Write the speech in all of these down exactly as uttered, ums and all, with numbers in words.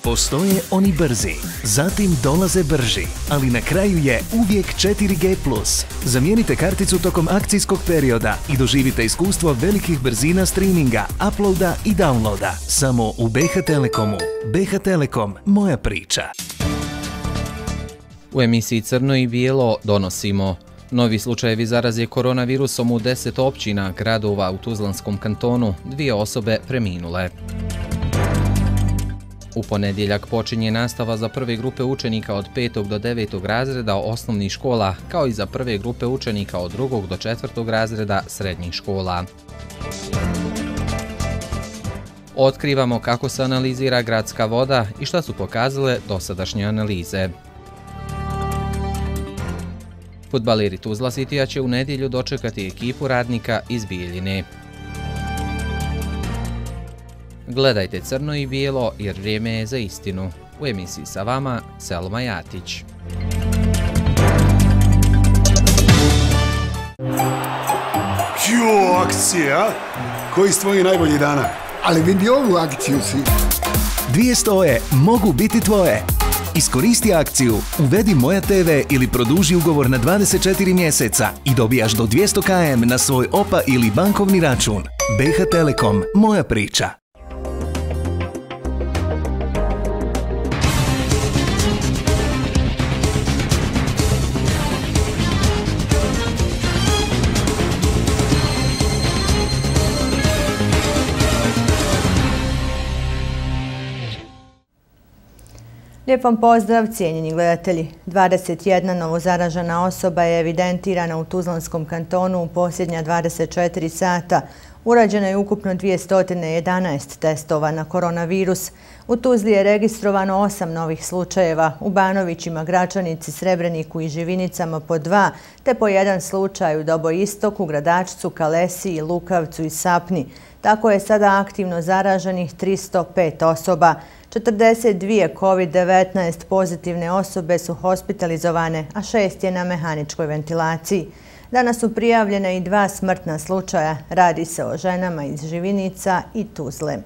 Postoje oni brzi, zatim dolaze brži, ali na kraju je uvijek četiri G plus. Zamijenite karticu tokom akcijskog perioda i doživite iskustvo velikih brzina streaminga, uploada i downloada. Samo u B H Telekomu. B H Telekom, moja priča. U emisiji Crno i bijelo donosimo novi slučajevi zaraze koronavirusom u deset općina gradova u Tuzlanskom kantonu, dvije osobe preminule. U ponedjeljak počinje nastava za prve grupe učenika od petog do devetog razreda osnovnih škola, kao i za prve grupe učenika od drugog do četvrtog razreda srednjih škola. Otkrivamo kako se analizira gradska voda i šta su pokazale dosadašnje analize. Fudbaleri Tuzla Citya će u nedjelju dočekati ekipu Radnika iz Bijeljine. Gledajte Crno i bijelo jer vrijeme je za istinu. U emisiji sa vama Selma Jatić. Jo, akcija! Koji su tvoji najbolji dana? Ali vidi ovu akciju si. Dvije stoje mogu biti tvoje. Iskoristi akciju, uvedi Moja T V ili produži ugovor na dvadeset četiri mjeseca i dobijaš do dvjesto kilometara na svoj O P A ili bankovni račun. B H Telekom, moja priča. Lijep vam pozdrav, cijenjeni gledatelji. dvadeset jedna novozaražena osoba je evidentirana u Tuzlanskom kantonu u posljednja dvadeset četiri sata. Urađeno je ukupno dvjesto jedanaest testova na koronavirus. U Tuzli je registrovano osam novih slučajeva, u Banovićima, Gračanici, Srebreniku i Živinicama po dva, te po jedan slučaj u Doboistoku, Gradačcu, Kalesiji, Lukavcu i Sapni. Tako je sada aktivno zaraženih tristo pet osoba. četrdeset dvije kovid devetnaest pozitivne osobe su hospitalizovane, a šest je na mehaničkoj ventilaciji. Danas su prijavljena i dva smrtna slučaja. Radi se o ženama iz Živinica i Tuzle.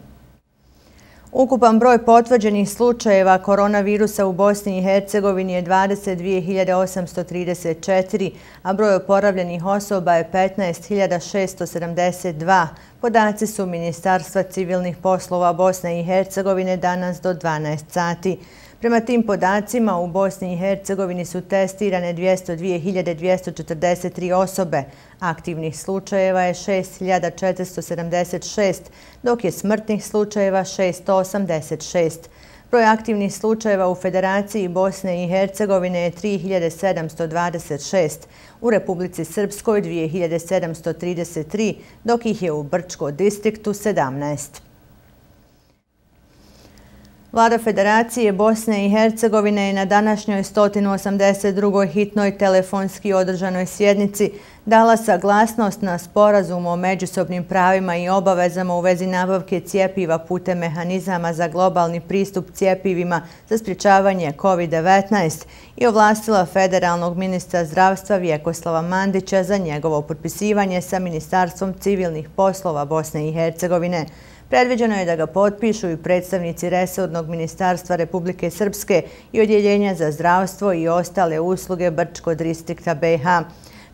Ukupan broj potvrđenih slučajeva koronavirusa u Bosni i Hercegovini je dvadeset dvije hiljade osamsto trideset četiri, a broj oporavljenih osoba je petnaest hiljada šesto sedamdeset dva. Podaci su Ministarstva civilnih poslova Bosne i Hercegovine danas do dvanaest sati. Prema tim podacima u Bosni i Hercegovini su testirane dvjesto dvije hiljade dvjesto četrdeset tri osobe. Aktivnih slučajeva je šest hiljada četiristo sedamdeset šest, dok je smrtnih slučajeva šesto osamdeset šest. Broj aktivnih slučajeva u Federaciji Bosne i Hercegovine je tri hiljade sedamsto dvadeset šest, u Republici Srpskoj dvije hiljade sedamsto trideset tri, dok ih je u Brčkom distriktu sedamnaest. Vlada Federacije Bosne i Hercegovine je na današnjoj sto osamdeset drugoj hitnoj telefonski održanoj sjednici dala saglasnost na sporazum o međusobnim pravima i obavezama u vezi nabavke cjepiva putem mehanizama za globalni pristup cjepivima za sprječavanje kovid devetnaest i ovlastila federalnog ministra zdravstva Vjekoslava Mandića za njegovo potpisivanje sa Ministarstvom civilnih poslova Bosne i Hercegovine. Predviđeno je da ga potpišu i predstavnici resornog ministarstva Republike Srpske i odjeljenja za zdravstvo i ostale usluge Brčkog distrikta B H.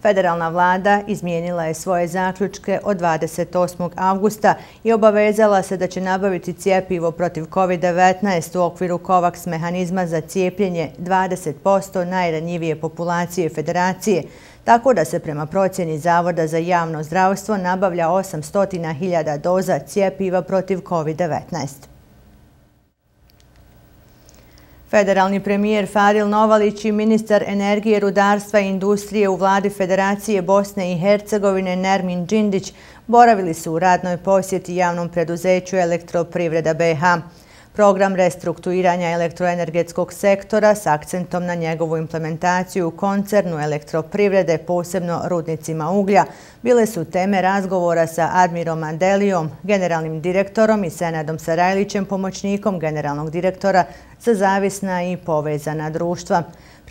Federalna vlada izmijenila je svoje zaključke od dvadeset osmog avgusta i obavezala se da će nabaviti cjepivo protiv kovid devetnaest u okviru COVAX mehanizma za cijepljenje dvadeset posto najranjivije populacije Federacije, tako da se prema procjeni Zavoda za javno zdravstvo nabavlja osamsto hiljada doza cjepiva protiv kovid devetnaest. Federalni premijer Faril Novalić i ministar energije, rudarstva i industrije u vladi Federacije Bosne i Hercegovine Nermin Džindić boravili su u radnoj posjeti javnom preduzeću Elektroprivreda B H. Program restrukturiranja elektroenergetskog sektora s akcentom na njegovu implementaciju u koncernu Elektroprivrede, posebno rudnicima uglja, bile su teme razgovora sa Admirom Mandelijom, generalnim direktorom i Senadom Sarajlićem, pomoćnikom generalnog direktora za zavisna i povezana društva.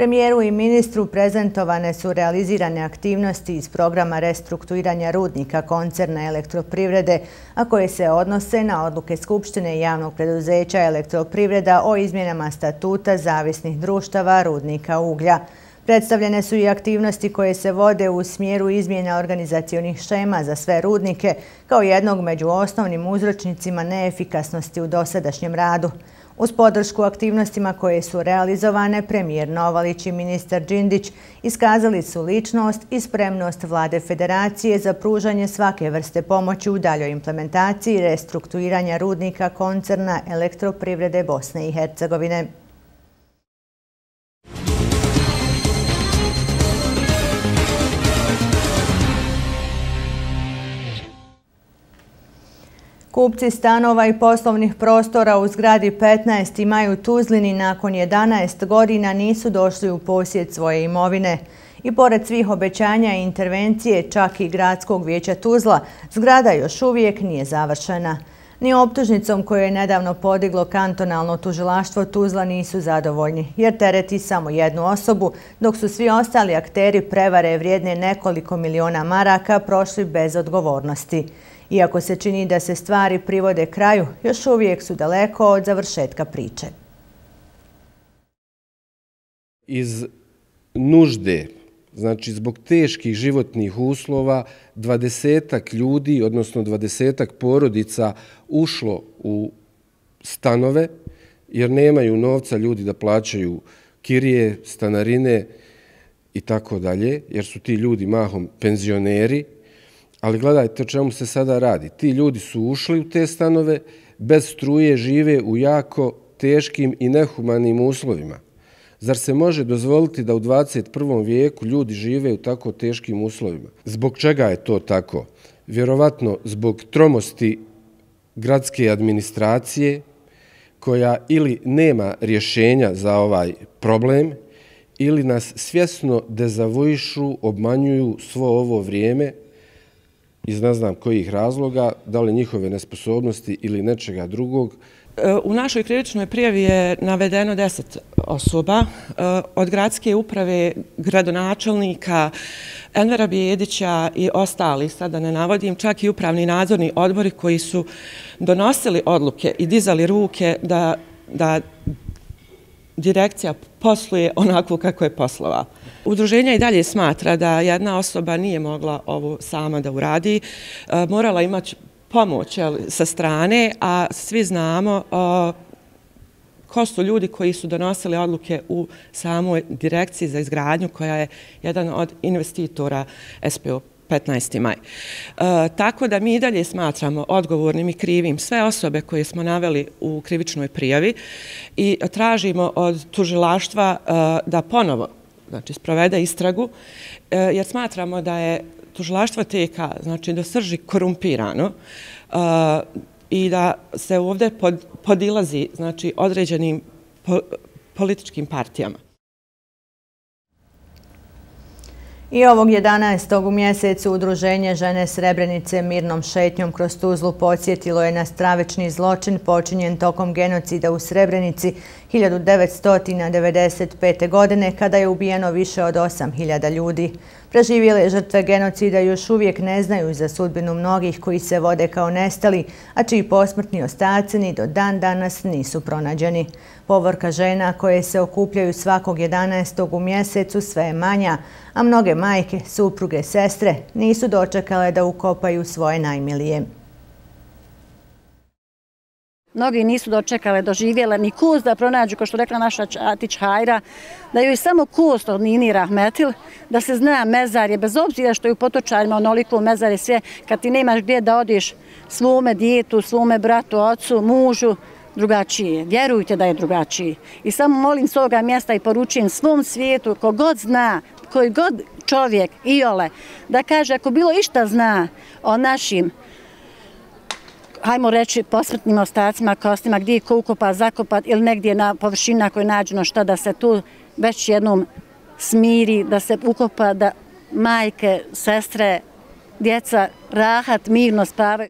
Premijeru i ministru prezentovane su realizirane aktivnosti iz programa restrukturiranja rudnika koncerna Elektroprivrede, a koje se odnose na odluke Skupštine javnog preduzeća Elektroprivreda o izmjenama statuta zavisnih društava rudnika uglja. Predstavljene su i aktivnosti koje se vode u smjeru izmjena organizacionih šema za sve rudnike, kao jednog među osnovnim uzročnicima neefikasnosti u dosadašnjem radu. Uz podršku aktivnostima koje su realizovane, premijer Novalić i ministar Đindić iskazali su ličnost i spremnost Vlade Federacije za pružanje svake vrste pomoći u daljoj implementaciji restrukturiranja rudnika koncerna Elektroprivrede Bosne i Hercegovine. Kupci stanova i poslovnih prostora u zgradi petnaest imaju Tuzlini nakon jedanaest godina nisu došli u posjed svoje imovine. I pored svih obećanja i intervencije, čak i Gradskog vijeća Tuzla, zgrada još uvijek nije završena. Ni optužnicom koju je nedavno podiglo kantonalno tužilaštvo Tuzla nisu zadovoljni, jer tereti samo jednu osobu, dok su svi ostali akteri prevare vrijedne nekoliko miliona maraka prošli bez odgovornosti. Iako se čini da se stvari privode kraju, još uvijek su daleko od završetka priče. Iz nužde, znači zbog teških životnih uslova, dvadesetak ljudi, odnosno dvadesetak porodica ušlo u stanove, jer nemaju novca ljudi da plaćaju kirije, stanarine i tako dalje, jer su ti ljudi mahom penzioneri. Ali gledajte o čemu se sada radi. Ti ljudi su ušli u te stanove, bez struje žive u jako teškim i nehumanim uslovima. Zar se može dozvoliti da u dvadeset prvom vijeku ljudi žive u tako teškim uslovima? Zbog čega je to tako? Vjerovatno zbog tromosti gradske administracije, koja ili nema rješenja za ovaj problem, ili nas svjesno dezavuišu, obmanjuju svo ovo vrijeme, iz ne znam kojih razloga, da li njihove nesposobnosti ili nečega drugog. U našoj krivičnoj prijavi je navedeno deset osoba, od gradske uprave, gradonačelnika, Envera Bijedića i ostali, sada ne navodim, čak i upravni nadzorni odbori koji su donosili odluke i dizali ruke da, da direkcija posluje onako kako je poslovala. Udruženje i dalje smatra da jedna osoba nije mogla ovo sama da uradi, morala imati pomoć sa strane, a svi znamo ko su ljudi koji su donosili odluke u samoj direkciji za izgradnju, koja je jedan od investitora S P O petnaesti maj. Tako da mi i dalje smatramo odgovornim i krivim sve osobe koje smo naveli u krivičnoj prijavi i tražimo od tužilaštva da ponovo, znači, sprovede istragu, jer smatramo da je tužilaštvo T K, znači, do srži korumpirano i da se ovdje podilazi, znači, određenim političkim partijama. I ovog jedanaestog u mjesecu Udruženje Žene Srebrenice mirnom šetnjom kroz Tuzlu podsjetilo je na stravični zločin počinjen tokom genocida u Srebrenici hiljadu devetsto devedeset pete. godine, kada je ubijeno više od osam hiljada ljudi. Preživjele žrtve genocida još uvijek ne znaju za sudbinu mnogih koji se vode kao nestali, a čiji posmrtni ostaci ni do dan danas nisu pronađeni. Povorka žena koje se okupljaju svakog jedanaestog u mjesecu sve je manja, a mnoge majke, supruge, sestre nisu dočekale da ukopaju svoje najmilije. Mnogi nisu dočekale, doživjele ni kust da pronađu, kao što rekla naša Atić Hajra, da joj samo kust od Nini Rahmetil, da se zna mezarje, bez obzira što je u Potočarima onoliko mezarje sve, kad ti nemaš gdje da odiš svome djetu, svome bratu, ocu, mužu, drugačije. Vjerujte da je drugačiji. I samo molim s ovoga mjesta i poručujem svom svijetu, kogod zna, koji god čovjek, iole, da kaže ako bilo išta zna o našim, hajmo reći, posmrtnim ostacima, kostima, gdje je ko ukopa, zakopat ili negdje na površina koje je nađeno, šta da se tu već jednom smiri, da se ukopa, da majke, sestre, djeca rahat, mirno spavaju.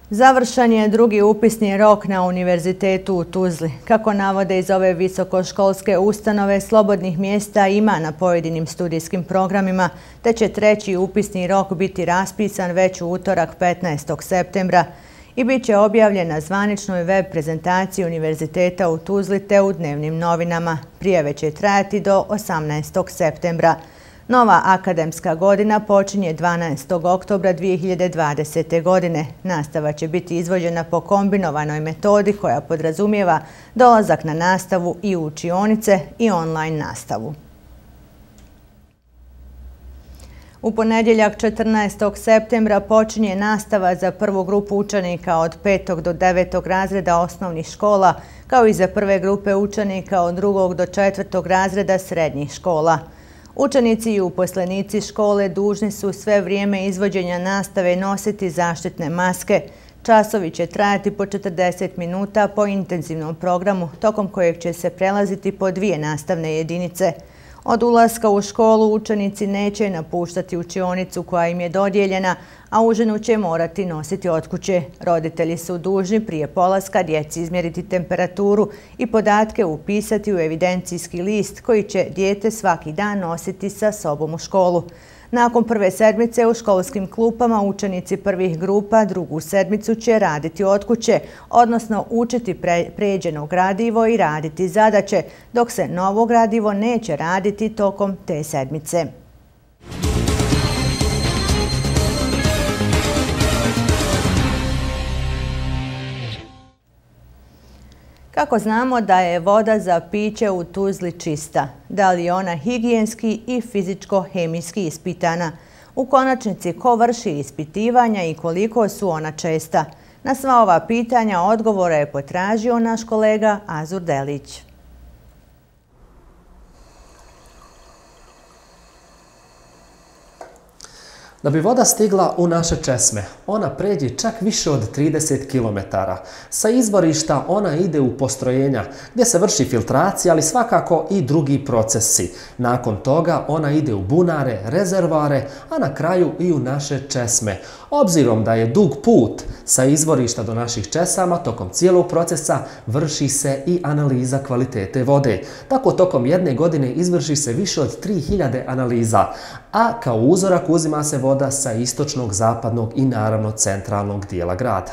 Završen je drugi upisni rok na Univerzitetu u Tuzli. Kako navode iz ove visokoškolske ustanove, slobodnih mjesta ima na pojedinim studijskim programima, te će treći upisni rok biti raspisan već u utorak petnaestog septembra i bit će objavljen na zvaničnoj web prezentaciji Univerziteta u Tuzli te u dnevnim novinama. Prijave će trajati do osamnaestog septembra. Nova akademska godina počinje dvanaestog oktobra dvije hiljade dvadesete. godine. Nastava će biti izvođena po kombinovanoj metodi koja podrazumijeva dolazak na nastavu i u učionice i online nastavu. U ponedjeljak četrnaestog septembra počinje nastava za prvu grupu učenika od petog do devetog razreda osnovnih škola, kao i za prve grupe učenika od drugog do četvrtog razreda srednjih škola. Učenici i uposlenici škole dužni su sve vrijeme izvođenja nastave nositi zaštitne maske. Časovi će trajati po četrdeset minuta po intenzivnom programu, tokom kojeg će se prelaziti po dvije nastavne jedinice. Od ulaska u školu učenici neće napuštati učionicu koja im je dodijeljena, a užinu će morati nositi od kuće. Roditelji su dužni prije polaska djeci izmjeriti temperaturu i podatke upisati u evidencijski list koji će dijete svaki dan nositi sa sobom u školu. Nakon prve sedmice u školskim klupama učenici prvih grupa drugu sedmicu će raditi od kuće, odnosno učiti pređeno gradivo i raditi zadaće, dok se novo gradivo neće raditi tokom te sedmice. Kako znamo da je voda za piće u Tuzli čista? Da li je ona higijenski i fizičko-hemijski ispitana? U konačnici, ko vrši ispitivanja i koliko su ona česta? Na sva ova pitanja odgovore je potražio naš kolega Azur Delić. Da bi voda stigla u naše česme, ona pređe čak više od trideset kilometara. Sa izvorišta ona ide u postrojenja gdje se vrši filtracija, ali svakako i drugi procesi. Nakon toga ona ide u bunare, rezervoare, a na kraju i u naše česme. Obzirom da je dug put sa izvorišta do naših česama, tokom cijelog procesa vrši se i analiza kvalitete vode. Tako tokom jedne godine izvrši se više od tri hiljade analiza, a kao uzorak uzima se voda sa istočnog, zapadnog i naravno centralnog dijela grada.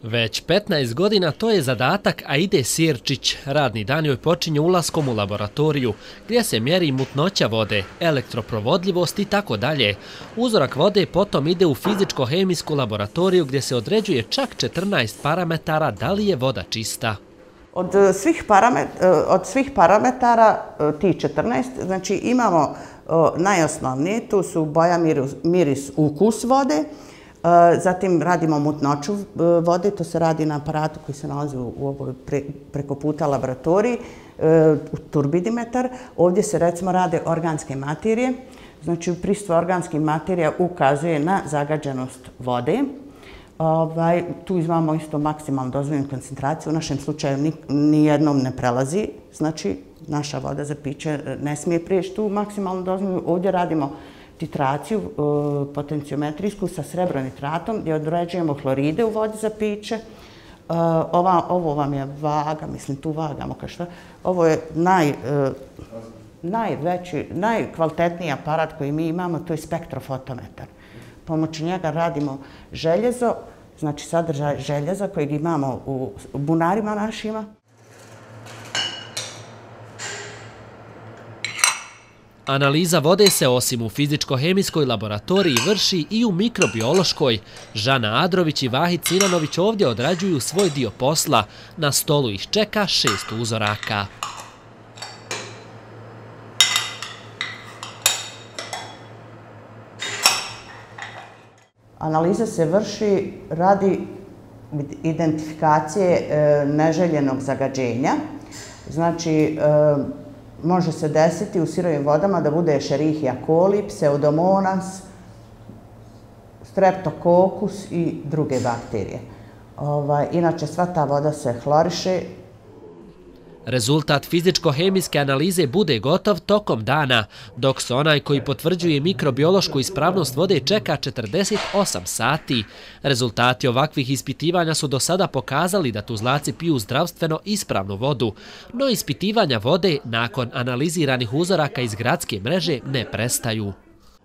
Već petnaest godina to je zadatak Aide Sirčić. Radni dan joj počinje ulaskom u laboratoriju gdje se mjeri mutnoća vode, elektroprovodljivost i tako dalje. Uzorak vode potom ide u fizičko-hemijsku laboratoriju gdje se određuje čak četrnaest parametara da li je voda čista. Od svih, paramet, od svih parametara, ti četrnaest, znači imamo najosnovnije, tu su boja, miris, miris, ukus vode, zatim radimo mutnoću vode, to se radi na aparatu koji se nalazi u ovoj pre, preko puta laboratoriji, turbidimetar. Ovdje se recimo rade organske materije, znači prisustvo organskih materija ukazuje na zagađenost vode. Ovaj, tu imamo isto maksimalnu dozvoljenu koncentraciju, u našem slučaju nijednom ne prelazi, znači naša voda za piće ne smije prijeći tu maksimalnu dozvoljenu. Ovdje radimo titraciju potenciometrijsku sa srebronitratom gdje određujemo hloride u vodi za piće. Ova, ovo vam je vaga, mislim tu vagamo kao što. Ovo je naj, najveći, najkvalitetniji aparat koji mi imamo, to je spektrofotometar. Pomoću njega radimo željezo, znači sadržaj željeza kojeg imamo u bunarima našima. Analiza vode se osim u fizičko-hemijskoj laboratoriji vrši i u mikrobiološkoj. Žana Adrović i Vahid Sinanović ovdje odrađuju svoj dio posla. Na stolu ih čeka šest uzoraka. Analiza se vrši radi identifikacije neželjenog zagađenja. Znači, može se desiti u sirovim vodama da bude Escherichia coli, Pseudomonas, Streptococcus i druge bakterije. Inače, sva ta voda se hloriše. Rezultat fizičko-hemijske analize bude gotov tokom dana, dok se onaj koji potvrđuje mikrobiološku ispravnost vode čeka četrdeset osam sati. Rezultati ovakvih ispitivanja su do sada pokazali da tuzlaci piju zdravstveno ispravnu vodu, no ispitivanja vode nakon analiziranih uzoraka iz gradske mreže ne prestaju.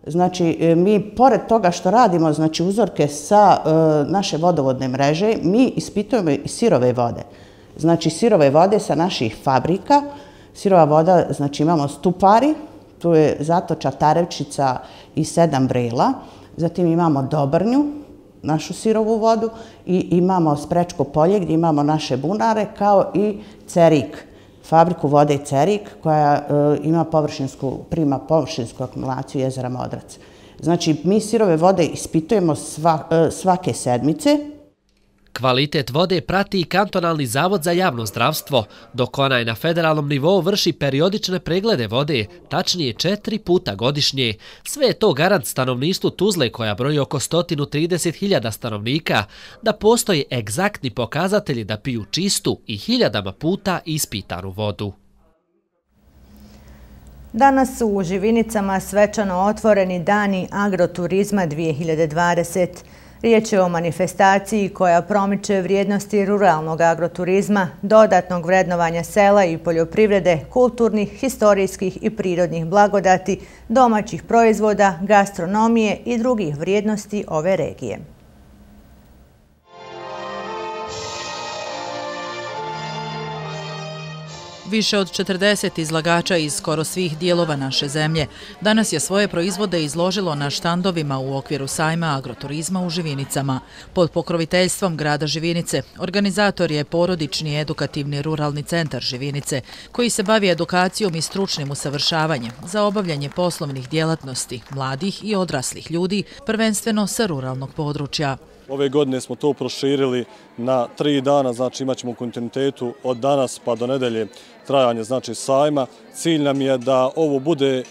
Znači, mi pored toga što radimo znači, uzorke sa e, naše vodovodne mreže, mi ispitujemo i sirove vode. Znači, sirove vode sa naših fabrika. Sirova voda, znači imamo Stupari, tu je Zatoča, Tarevčica i Sedam Vrela. Zatim imamo Dobrnju, našu sirovu vodu, i imamo Sprečko polje gdje imamo naše bunare, kao i Cerik, fabriku vode Cerik koja e, ima površinsku, prima površinsku akumulaciju jezera Modrac. Znači, mi sirove vode ispitujemo sva, e, svake sedmice. Kvalitet vode prati i kantonalni zavod za javno zdravstvo, dok onaj na federalnom nivou vrši periodične preglede vode, tačnije četiri puta godišnje. Sve je to garant stanovništvu Tuzle koja broji oko sto trideset hiljada stanovnika, da postoje egzaktni pokazatelji da piju čistu i hiljadama puta ispitanu vodu. Danas su u Živinicama svečano otvoreni dani agroturizma dvije hiljade dvadesete. Riječ je o manifestaciji koja promiče vrijednosti ruralnog agroturizma, dodatnog vrednovanja sela i poljoprivrede, kulturnih, historijskih i prirodnih blagodati, domaćih proizvoda, gastronomije i drugih vrijednosti ove regije. Više od četrdeset izlagača iz skoro svih dijelova naše zemlje danas je svoje proizvode izložilo na štandovima u okviru sajma agroturizma u Živinicama. Pod pokroviteljstvom grada Živinice organizator je porodični edukativni ruralni centar Živinice koji se bavi edukacijom i stručnim usavršavanjem za obavljanje poslovnih djelatnosti mladih i odraslih ljudi, prvenstveno sa ruralnog područja. Ove godine smo to proširili na tri dana, znači imat ćemo u kontinuitetu od danas pa do nedelje trajanje znači sajma. Cilj nam je da ovo bude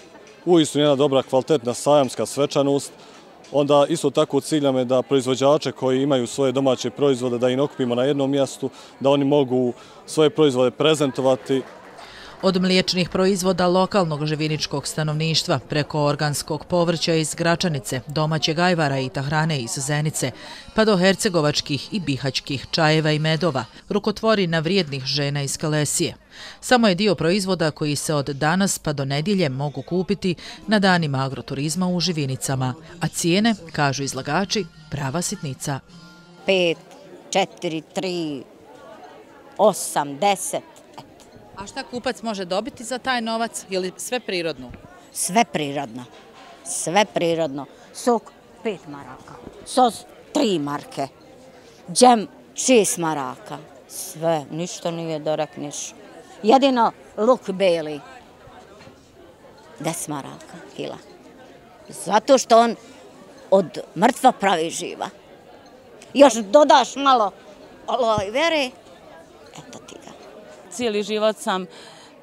uistinu jedna dobra kvalitetna sajamska svečanost. Onda isto tako cilj nam je da proizvođače koji imaju svoje domaće proizvode da ih okupimo na jednom mjestu, da oni mogu svoje proizvode prezentovati. Od mliječnih proizvoda lokalnog živiničkog stanovništva preko organskog povrća iz Gračanice, domaćeg ajvara i tahrane iz Zenice, pa do hercegovačkih i bihaćkih čajeva i medova, rukotvorina vrijednih žena iz Kalesije. Samo je dio proizvoda koji se od danas pa do nedjelje mogu kupiti na danima agroturizma u Živinicama, a cijene, kažu izlagači, prava sitnica. Pet, četiri, tri, osam, deset. A šta kupac može dobiti za taj novac ili sve prirodno? Sve prirodno. Sve prirodno. Sok pet maraka. Sos tri marke. Džem šest maraka. Sve. Ništa nije da rekneš. Jedino luk beli. Deset maraka kila. Zato što on od mrtva pravi živa. Još dodaš malo aloe vere. Eto ti ga. Cijeli život sam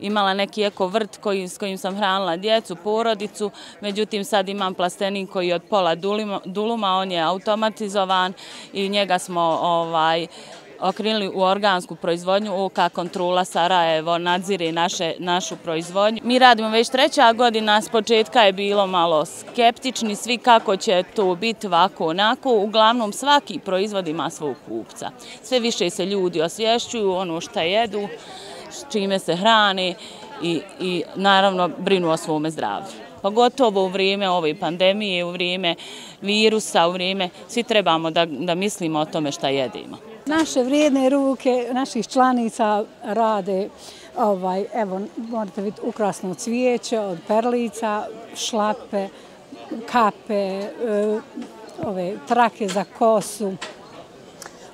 imala neki eko vrt koji, s kojim sam hranila djecu, porodicu, međutim sad imam plastenik koji je od pola duluma, duluma, on je automatizovan i njega smo ovaj, okrenuli u organsku proizvodnju. U K Kontrola Sarajevo nadzire naše, našu proizvodnju. Mi radimo već treća godina, s početka je bilo malo skeptični svi kako će to biti ovako onako. Uglavnom svaki proizvod ima svog kupca. Sve više se ljudi osvješćuju ono što jedu, s čime se hrane i, i naravno brinu o svome zdravlju. Pogotovo u vrijeme ove pandemije, u vrijeme virusa, u vrijeme svi trebamo da, da mislimo o tome šta jedimo. Naše vrijedne ruke naših članica rade, ovaj, evo, morate vidjeti ukrasno cvijeće od perlica, šlape, kape, ove trake za kosu,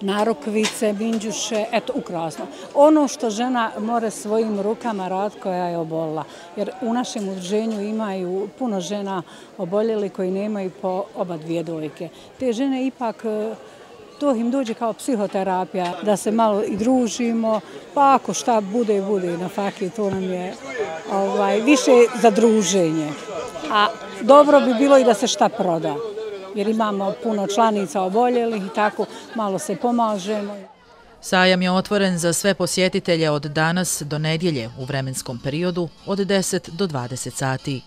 narukvice, minđuše, eto, ukrasno. Ono što žena mora svojim rukama raditi koja je obolila. Jer u našem udruženju imaju puno žena oboljeli koji nemaju po oba dvije dojke. Te žene ipak, to im dođe kao psihoterapija, da se malo i družimo, pa ako šta bude, bude na faki, to nam je ovaj, više za druženje. A dobro bi bilo i da se šta proda. Jer imamo puno članica oboljelih i tako malo se pomažemo. Sajam je otvoren za sve posjetitelje od danas do nedjelje u vremenskom periodu od deset do dvadeset sati.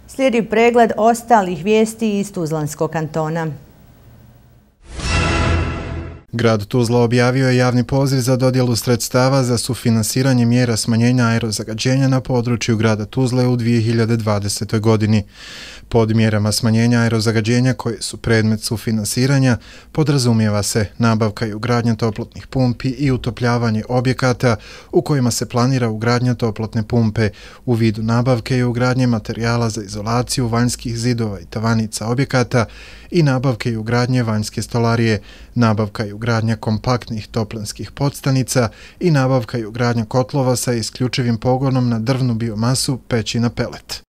Slijedi pregled ostalih vijesti iz Tuzlanskog kantona. Grad Tuzla objavio je javni poziv za dodjelu sredstava za sufinansiranje mjera smanjenja aerozagađenja na području grada Tuzle u dvije hiljade dvadesetoj godini. Pod mjerama smanjenja aerozagađenja koje su predmet sufinansiranja podrazumijeva se nabavka i ugradnja toplotnih pumpi i utopljavanje objekata u kojima se planira ugradnja toplotne pumpe u vidu nabavke i ugradnje materijala za izolaciju vanjskih zidova i tavanica objekata i nabavke i ugradnje vanjske stolarije, nabavka i ugradnja kompaktnih toplinskih podstanica i nabavka i ugradnja kotlova sa isključivim pogonom na drvnu biomasu, peći na pelet.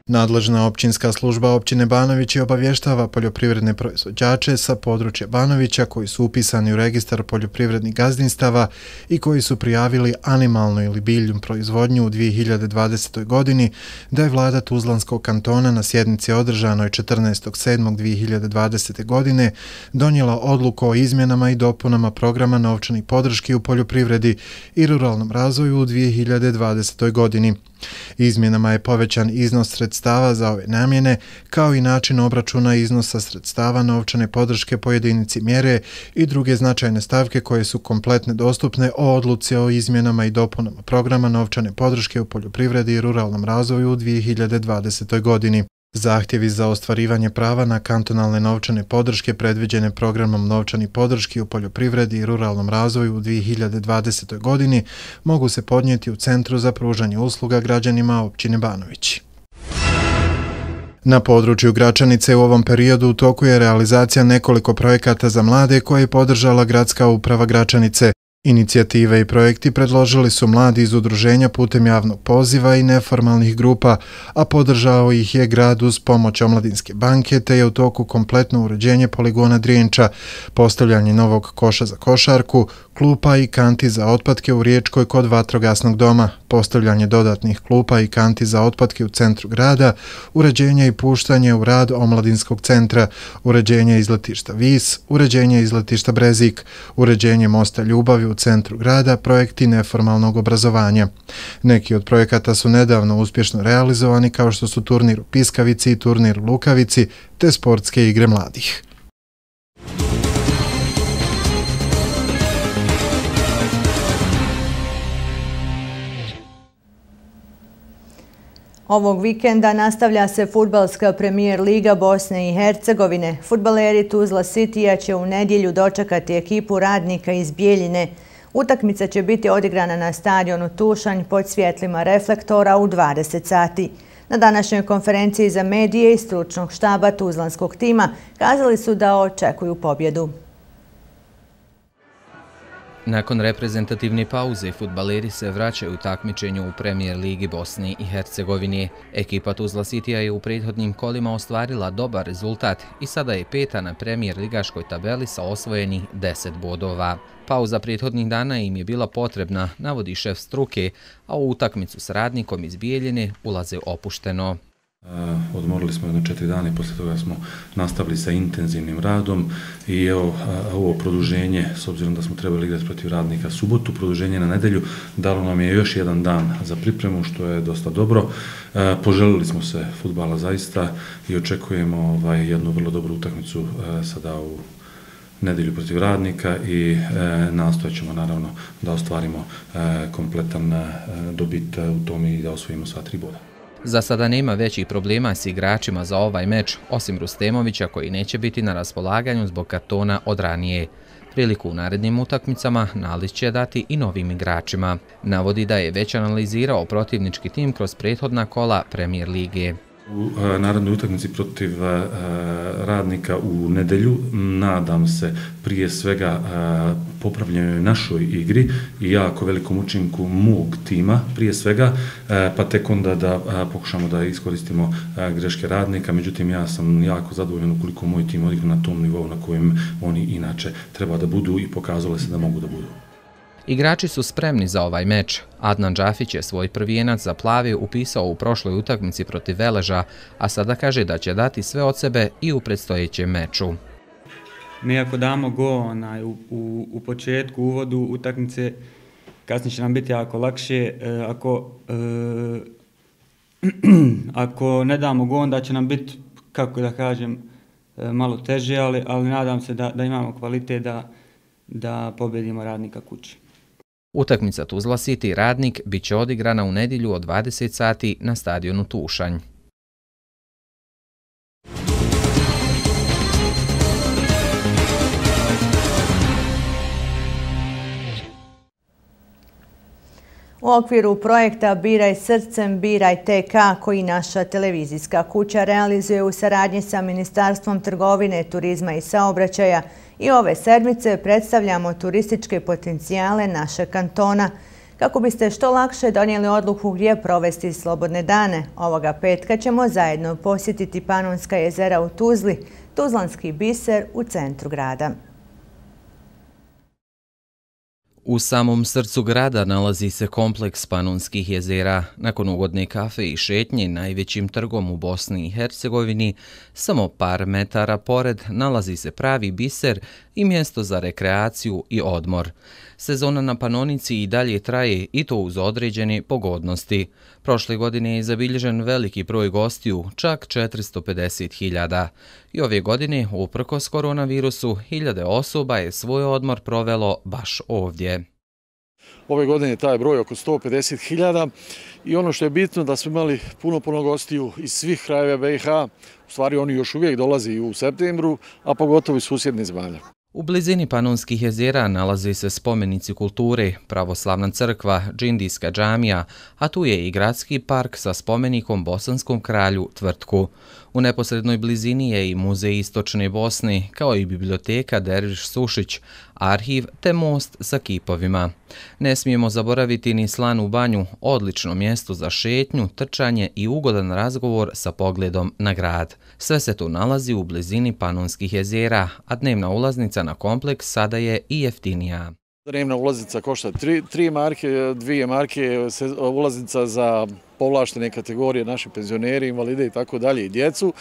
Nadležna općinska služba općine Banović obavještava poljoprivredne proizvođače sa područja Banovića koji su upisani u registar poljoprivrednih gazdinstava i koji su prijavili animalnu ili biljnu proizvodnju u dvije hiljade dvadesetoj godini da je vlada Tuzlanskog kantona na sjednici održanoj četrnaestog sedmog dvije hiljade dvadesete. godine donijela odluku o izmjenama i dopunama programa novčanih podrški u poljoprivredi i ruralnom razvoju u dvije hiljade dvadesetoj. godini. Izmjenama je povećan iznos sredstava za ove namjene, kao i način obračuna iznosa sredstava novčane podrške po jedinici mjere i druge značajne stavke koje su kompletne dostupne o odluci o izmjenama i dopunama programa novčane podrške u poljoprivredi i ruralnom razvoju u dvije hiljade dvadesetoj. godini. Zahtjevi za ostvarivanje prava na kantonalne novčane podrške predviđene programom novčani podrški u poljoprivredi i ruralnom razvoju u dvije hiljade dvadesetoj. godini mogu se podnijeti u Centru za pružanje usluga građanima općine Banović. Na području Gračanice u ovom periodu u toku je realizacija nekoliko projekata za mlade koje je podržala Gradska uprava Gračanice. Inicijative i projekti predložili su mladi iz udruženja putem javnog poziva i neformalnih grupa, a podržao ih je grad uz pomoć Omladinske banke, te je u toku kompletno uređenje poligona Drijenča, postavljanje novog koša za košarku, klupa i kanti za otpadke u Riječkoj kod vatrogasnog doma, postavljanje dodatnih klupa i kanti za otpadke u centru grada, uređenje i puštanje u rad Omladinskog centra, uređenje izletišta Vis, uređenje izletišta Brezik, uređenje mosta Ljubavi u centru grada, projekti neformalnog obrazovanja. Neki od projekata su nedavno uspješno realizovani kao što su turnir u Piskavici i turnir u Lukavici, te sportske igre mladih. Ovog vikenda nastavlja se fudbalska premijer Liga Bosne i Hercegovine. Fudbaleri Tuzla Citya će u nedjelju dočekati ekipu Radnika iz Bijeljine. Utakmica će biti odigrana na stadionu Tušanj pod svjetlima reflektora u dvadeset sati. Na današnjoj konferenciji za medije i stručnog štaba tuzlanskog tima kazali su da očekuju pobjedu. Nakon reprezentativne pauze, fudbaleri se vraćaju u takmičenju u Premijer Ligi Bosni i Hercegovine. Ekipa Tuzla Citya je u prethodnim kolima ostvarila dobar rezultat i sada je peta na Premijer ligaškoj tabeli sa osvojenih deset bodova. Pauza prethodnih dana im je bila potrebna, navodi šef struke, a u utakmicu s Radnikom iz Bijeljine ulaze opušteno. Odmorili smo jedno četiri dana i poslije toga smo nastavili sa intenzivnim radom i evo ovo produženje, s obzirom da smo trebali igrati protiv Radnika subotu, produženje na nedelju, dalo nam je još jedan dan za pripremu, što je dosta dobro. Poželili smo se fudbala zaista i očekujemo ovaj, jednu vrlo dobru utakmicu sada u nedelju protiv Radnika i e, nastojat ćemo naravno da ostvarimo e, kompletan e, dobit u tom i da osvojimo sva tri boda. Za sada nema većih problema s igračima za ovaj meč, osim Rustemovića koji neće biti na raspolaganju zbog kartona od ranije. Priliku u narednim utakmicama Nalić će dati i novim igračima. Navodi da je već analizirao protivnički tim kroz prethodna kola Premijer lige. U narednoj utakmici protiv Radnika u nedelju nadam se prije svega popravljanju našoj igri i jako velikom učinku mog tima prije svega, pa tek onda da pokušamo da iskoristimo greške Radnika. Međutim, ja sam jako zadovoljan ukoliko moj tim odigra na tom nivou na kojem oni inače treba da budu i pokazali se da mogu da budu. Igrači su spremni za ovaj meč. Adnan Džafić je svoj prvijenac za plavi upisao u prošloj utakmici protiv Veleža, a sada kaže da će dati sve od sebe i u predstojećem meču. mi ako damo go onaj, u, u, u početku, u uvodu utakmice, kasnije će nam biti jako lakše. E, ako, e, ako ne damo go, onda će nam biti, kako da kažem, e, malo teže, ali, ali nadam se da, da imamo kvalitet da, da pobedimo Radnika kući. Utakmica Tuzla City Radnik bit će odigrana u nedjelju od dvadeset sati na stadionu Tušanj. U okviru projekta Biraj srcem, biraj T K koji naša televizijska kuća realizuje u saradnji sa Ministarstvom trgovine, turizma i saobraćaja i ove sedmice predstavljamo turističke potencijale našeg kantona. Kako biste što lakše donijeli odluku gdje provesti slobodne dane, ovoga petka ćemo zajedno posjetiti Panonska jezera u Tuzli, Tuzlanski biser u centru grada. U samom srcu grada nalazi se kompleks Panonskih jezera. Nakon ugodne kafe i šetnje najvećim trgom u Bosni i Hercegovini, samo par metara pored nalazi se pravi biser i mjesto za rekreaciju i odmor. Sezona na Panonici i dalje traje i to uz određene pogodnosti. Prošle godine je zabilježen veliki broj gostiju, čak četiristo pedeset hiljada. I ove godine, uprkos koronavirusu, hiljade osoba je svoj odmor provelo baš ovdje. Ove godine je taj broj oko sto pedeset hiljada i ono što je bitno da smo imali puno, puno gostiju iz svih krajeva B i H. U stvari oni još uvijek dolazi u septembru, a pogotovo iz susjednih zemalja. U blizini Panonskih jezera nalaze se spomenici kulture, pravoslavna crkva, džindijska džamija, a tu je i gradski park sa spomenikom bosanskom kralju Tvrtku. U neposrednoj blizini je i Muzej Istočne Bosne, kao i biblioteka Derviš Sušić, arhiv te most sa kipovima. Ne smijemo zaboraviti ni Slanu banju, odlično mjesto za šetnju, trčanje i ugodan razgovor sa pogledom na grad. Sve se tu nalazi u blizini Panonskih jezera, a dnevna ulaznica na kompleks sada je i jeftinija. Dnevna ulaznica košta tri marke, dvije marke, ulaznica za povlaštene kategorije, naše penzioneri, invalide i tako dalje i djecu.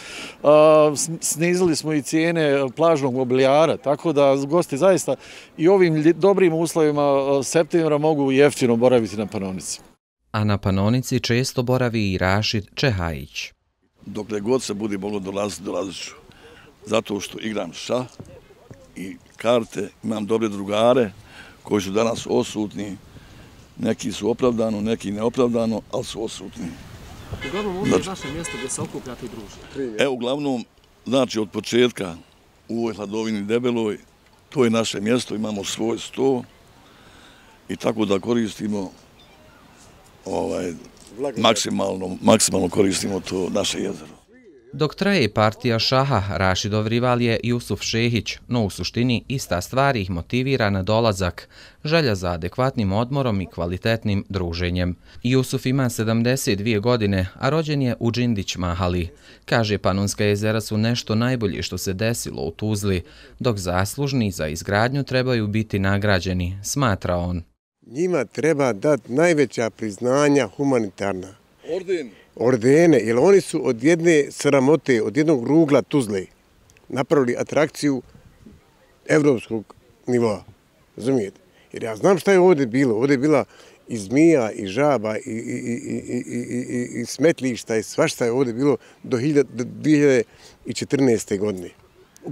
Snizili smo i cijene plažnog mobilijara, tako da gosti zaista i ovim dobrim uslovima septembra mogu jeftino boraviti na Panonici. A na Panonici često boravi i Rašid Čehajić. Dokle god se bude moglo dolaziti, dolazit ću. Zato što igram šah i karte, imam dobre drugare koji su danas osutni. Neki su opravdano, neki neopravdano, ali su osutni. Uglavnom ovdje je vaše mjesto gdje se okupljate i družite. Evo, uglavnom, znači od početka u ovoj hladovini debeloj, to je naše mjesto, imamo svoj sto i tako da koristimo ovaj, maksimalno, maksimalno koristimo to naše jezero. Dok traje partija šaha, Rašidov rival je Jusuf Šehić, no u suštini ista stvar ih motivira na dolazak, želja za adekvatnim odmorom i kvalitetnim druženjem. Jusuf ima sedamdeset dvije godine, a rođen je u Džindić Mahali. Kaže, Panonska jezera su nešto najbolje što se desilo u Tuzli, dok zaslužni za izgradnju trebaju biti nagrađeni, smatra on. Njima treba dati najveća priznanja humanitarna. Orden. Ordene, jer oni su od jedne sramote, od jednog rugla Tuzle napravili atrakciju evropskog nivoa. Razumijete? Jer ja znam šta je ovdje bilo. Ovdje je bila i zmija, i žaba, i, i, i, i, i, i smetlišta, i svašta je ovdje bilo do dvije hiljade četrnaeste. godine.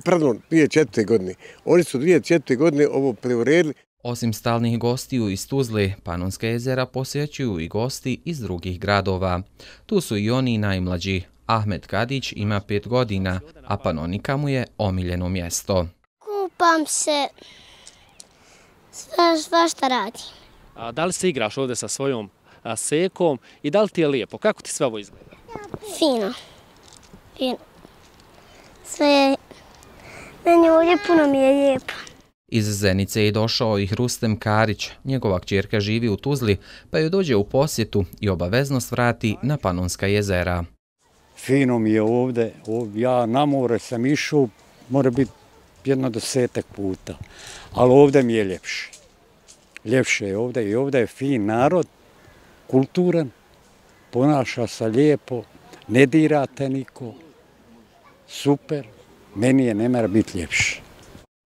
Pardon, dvije hiljade četvrte. godine. Oni su dvije hiljade četvrte. godine ovo preuredili. Osim stalnih gostiju iz Tuzle, Panonska jezera posjećuju i gosti iz drugih gradova. Tu su i oni najmlađi. Ahmed Kadić ima pet godina, a Panonika mu je omiljeno mjesto. Kupam se, svašta radim. A da li se igraš ovdje sa svojom a, sekom i da li ti je lijepo? Kako ti sve ovo izgleda? Fino. Fino. Sve je, meni ovdje puno mi je lijepo. Iz Zenice je došao i Hrustem Karić. Njegova kćerka živi u Tuzli, pa joj dođe u posjetu i obavezno svrati na Panonska jezera. Fino mi je ovdje. Ja na more sam išao, mora biti jedno desetak puta. Ali ovdje mi je ljepše. Ljepše je ovdje i ovdje je fin narod, kulturan, ponaša se lijepo, ne dirate niko. Super, meni je ne mora biti ljepše.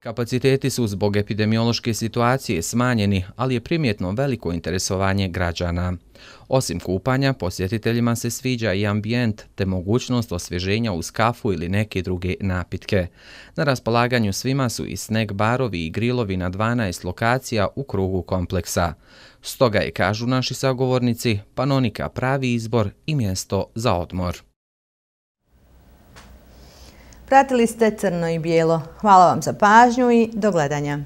Kapaciteti su zbog epidemiološke situacije smanjeni, ali je primjetno veliko interesovanje građana. Osim kupanja, posjetiteljima se sviđa i ambijent te mogućnost osvježenja uz kafu ili neke druge napitke. Na raspolaganju svima su i snack barovi i grilovi na dvanaest lokacija u krugu kompleksa. Stoga je, kažu naši sagovornici, Panonika pravi izbor i mjesto za odmor. Pratili ste Crno i bijelo. Hvala vam za pažnju i do gledanja.